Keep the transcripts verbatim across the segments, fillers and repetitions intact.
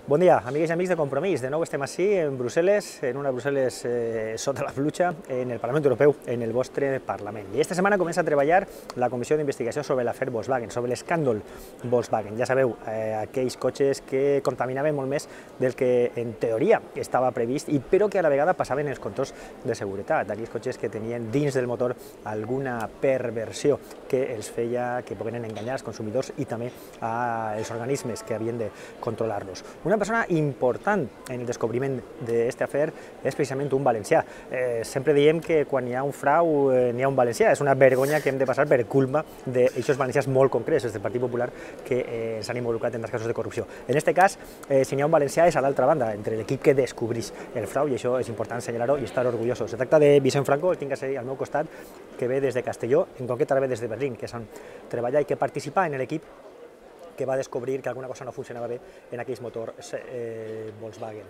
Bon dia, amigues i amics de Compromís. De nou estem així, en Brussel·les, en una Brussel·les eh, sota la pluja, en el Parlament Europeu, en el vostre Parlament. I esta setmana comença a treballar la Comissió d'Investigació sobre l'afer Volkswagen, sobre l'escàndol Volkswagen. Ja sabeu, eh, aquells cotxes que contaminaven molt més del que en teoria estava previst, i però que a la vegada passaven els controls de seguretat, aquells cotxes que tenien dins del motor alguna perversió que els feia que pogueren enganyar els consumidors i també als organismes que havien de controlar-los. Una persona important en el descobriment d'aquest afer és precisament un valencià. Eh, sempre diem que quan hi ha un frau eh, n'hi ha un valencià. És una vergonya que hem de passar per culpa d'aixòs valencians molt concrets, des del Partit Popular, que eh, s'han involucrat en els casos de corrupció. En aquest cas, eh, si n'hi ha un valencià és a l'altra banda, entre l'equip que descobreix el frau, i això és important assenyalar-ho i estar orgullosos. Se tracta de Vicent Franco, el tinc al meu costat, que ve des de Castelló, en concret ara ve des de Berlín, que és on treballa i que participa en l'equip que va descobrir que alguna cosa no funcionava bé en aquells motors eh, Volkswagen.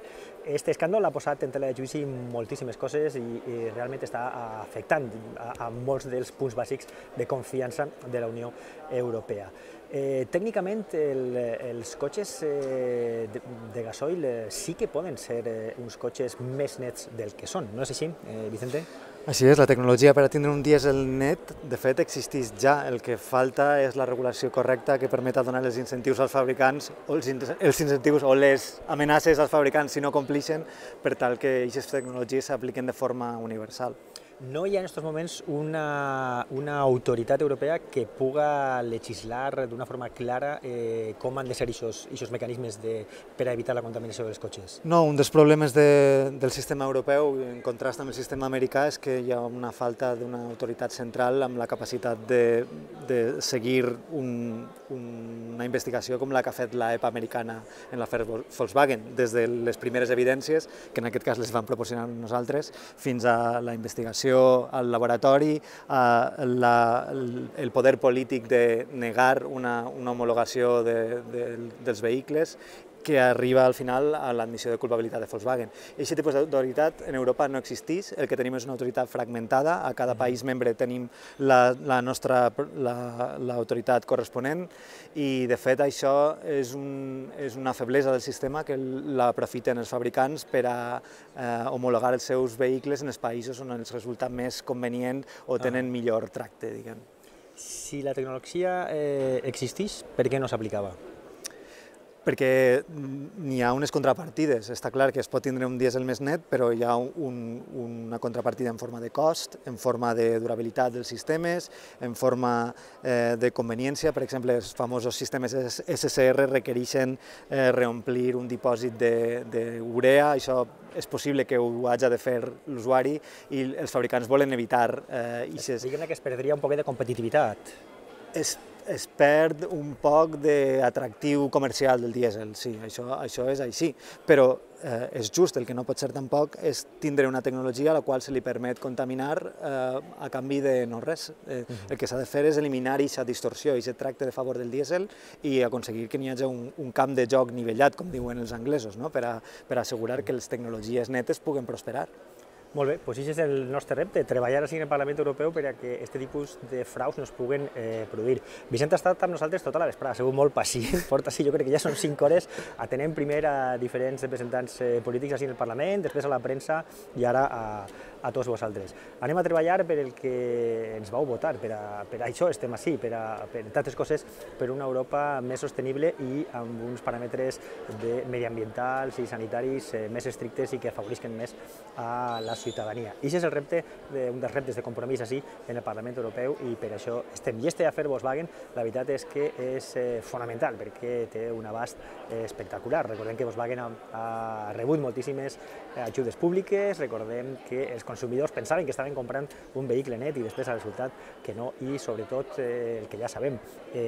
Este escàndol ha posat en tela de judici moltíssimes coses i, i realment està afectant a, a molts dels punts bàsics de confiança de la Unió Europea. Eh, tècnicament, el, els cotxes eh, de, de gasoil eh, sí que poden ser eh, uns cotxes més nets del que són, no és així, eh, Vicente? Així és, la tecnologia per a tindre un dièsel net, de fet, existeix ja. El que falta és la regulació correcta que permeta donar els incentius als fabricants, o els, els incentius o les amenaces als fabricants si no complixen, per tal que aquestes tecnologies s'apliquen de forma universal. No hi ha en aquests moments una, una autoritat europea que puga legislar d'una forma clara eh, com han de ser aquests mecanismes de, per a evitar la contaminació dels cotxes? No, un dels problemes de, del sistema europeu, en contrast amb el sistema americà, és que hi ha una falta d'una autoritat central amb la capacitat de, de seguir un, una investigació com la que ha fet l'E P A americana en l'afer Volkswagen, des de les primeres evidències, que en aquest cas les van proporcionar nosaltres, fins a la investigació al laboratori, la, el poder polític de negar una, una homologació de, de, dels vehicles, que arriba al final a l'admissió de culpabilitat de Volkswagen. Aquest tipus d'autoritat en Europa no existeix, el que tenim és una autoritat fragmentada, a cada país membre tenim la, la nostra l'autoritat corresponent, i de fet això és, un, és una feblesa del sistema que l'aprofiten els fabricants per a eh, homologar els seus vehicles en els països on els resulta més convenient o tenen millor tracte, diguem. Si la tecnologia eh, existeix, per què no s'aplicava? Perquè n'hi ha unes contrapartides. Està clar que es pot tindre un dièsel més net, però hi ha un, una contrapartida en forma de cost, en forma de durabilitat dels sistemes, en forma eh, de conveniència. Per exemple, els famosos sistemes S C R requereixen eh, reomplir un dipòsit d'urea. Això és possible que ho hagi de fer l'usuari i els fabricants volen evitar eh, ixes. Diguem que es perdria un poquet de competitivitat. Es, es perd un poc d'atractiu comercial del dièsel, sí, això, això és així, però eh, és just, el que no pot ser tampoc és tindre una tecnologia a la qual se li permet contaminar eh, a canvi de no res. Eh, el que s'ha de fer és eliminar aquesta distorsió, aquest tracte de favor del dièsel i aconseguir que n'hi hagi un, un camp de joc nivellat, com diuen els anglesos, no? per, a, per a assegurar que les tecnologies netes puguen prosperar. Molt bé, doncs aquest és el nostre repte, treballar així en el Parlament Europeu per a que aquest tipus de fraus no es puguen eh, produir. Vicent ha estat amb nosaltres tota la vesprada, ha sigut molt pacient, porta així, jo crec que ja són cinc hores, atenent primer a diferents representants eh, polítics així en el Parlament, després a la premsa i ara a, a tots vosaltres. Anem a treballar per el que ens vau votar, per a, per a això estem així, per a, per tantes coses, per una Europa més sostenible i amb uns paràmetres de mediambientals i sanitaris eh, més estrictes i que afavorisquen més a la ciutadania. I aquest és el repte, un dels reptes de Compromís així en el Parlament Europeu i per això estem. I este afer Volkswagen, la veritat és que és fonamental perquè té un abast espectacular. Recordem que Volkswagen ha rebut moltíssimes ajudes públiques, recordem que els consumidors pensaven que estaven comprant un vehicle net i després ha resultat que no, i sobretot el que ja sabem,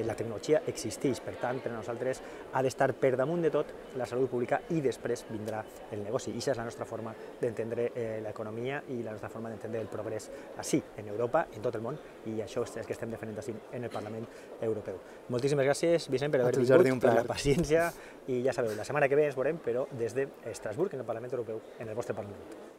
la tecnologia existeix, per tant per a nosaltres ha d'estar per damunt de tot la salut pública i després vindrà el negoci. I aquesta és la nostra forma d'entendre l'economia i la nostra forma d'entendre el progrés així, en Europa, en tot el món, i això és el que estem defendent així en el Parlament Europeu. Moltíssimes gràcies, Vicent, per haver vingut, per la paciència, i ja sabeu, la setmana que ve ens veurem, però des d'Estrasburg, en el Parlament Europeu, en el vostre Parlament.